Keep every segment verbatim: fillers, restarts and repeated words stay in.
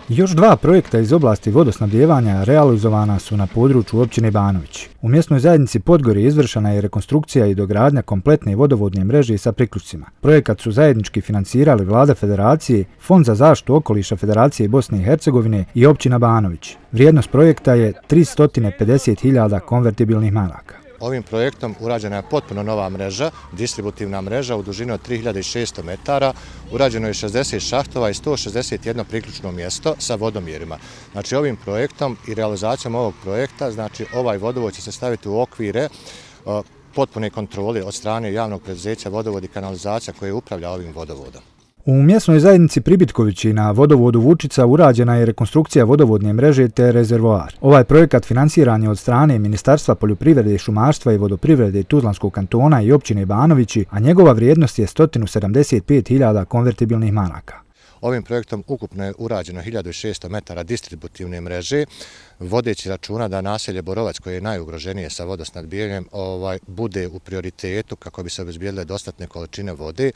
Još dva projekta iz oblasti vodosnabdijevanja realizovana su na području općine Banovići. U mjesnoj zajednici Podgorje izvršena je rekonstrukcija i dogradnja kompletne vodovodne mreže sa priključcima. Projekat su zajednički financirali Vlada Federacije, Fond za zaštitu okoliša Federacije Bosne i Hercegovine i općina Banovići. Vrijednost projekta je tristo pedeset hiljada konvertibilnih maraka. Ovim projektom urađena je potpuno nova mreža, distributivna mreža u dužini od tri hiljade šesto metara, urađeno je šezdeset šahtova i sto šezdeset jedno priključno mjesto sa vodomjerima. Znači ovim projektom i realizacijom ovog projekta, znači ovaj vodovod će se staviti u okvire potpune kontrole od strane javnog preduzeća Vodovod i kanalizacija koje upravlja ovim vodovodom. U mjesnoj zajednici Pribitkovići na vodovodu Vučica urađena je rekonstrukcija vodovodne mreže te rezervoar. Ovaj projekat financiran je od strane Ministarstva poljoprivrede, šumarstva i vodoprivrede Tuzlanskog kantona i općine Banovići, a njegova vrijednost je sto sedamdeset pet hiljada konvertibilnih maraka. Ovim projektom ukupno je urađeno hiljadu šesto metara distributivne mreže, vodeći računa da naselje Borovac, koje je najugroženije sa vodosnabdijevanjem, ovaj, bude u prioritetu kako bi se obezbijedile dostatne količine vode.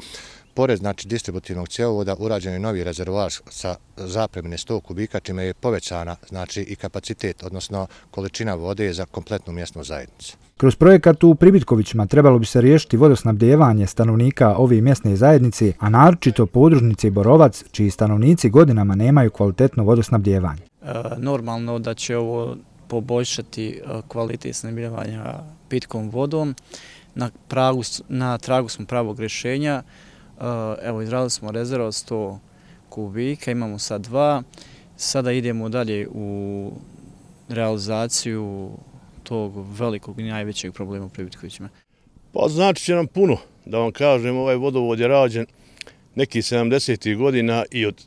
Pored znači, distributivnog cjevovoda urađen je novi rezervoar sa zapremine sto kubika, čime je povećana znači, i kapacitet, odnosno količina vode za kompletnu mjesnu zajednicu. Kroz projekat u Pribitkovićima trebalo bi se riješiti vodosnabdijevanje stanovnika ove mjesne zajednice, a naročito podružnice Borovac, čiji stanovnici godinama nemaju kvalitetno vodosnabdijevanje. E, normalno da će ovo poboljšati kvalitet snabdijevanja pitkom vodom. Na, pragu, na tragu smo pravog rješenja. Evo, izradili smo rezervu od sto kubika, imamo sad dva. Sada idemo dalje u realizaciju tog velikog i najvećeg problema u Pribitkovićima. Pa znači će nam puno, da vam kažem, ovaj vodovod je rađen nekih sedamdesetih godina i od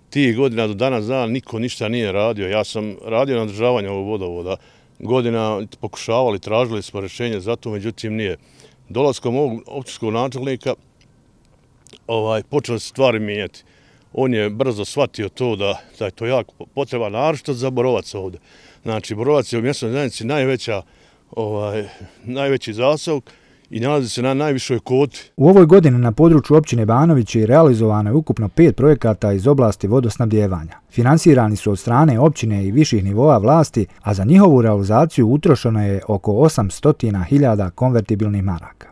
tih godina do danas dana niko ništa nije radio. Ja sam radio na održavanju ovog vodovoda. Godina pokušavali, tražili smo rješenje za to, međutim nije. Dolaskom ovog općinskog načelnika ovaj, počeli se stvari mijenjati. On je brzo shvatio to da, da je to jako potreba, naročito za Borovac ovdje. Znači, Borovac je u mjesnoj zajednici najveća, ovaj, najveći zaseok i nalazi se na najvišoj koti. U ovoj godini na području općine Banovići realizovano je ukupno pet projekata iz oblasti vodosnabdijevanja. Finansirani su od strane općine i viših nivoa vlasti, a za njihovu realizaciju utrošeno je oko osamsto hiljada konvertibilnih maraka.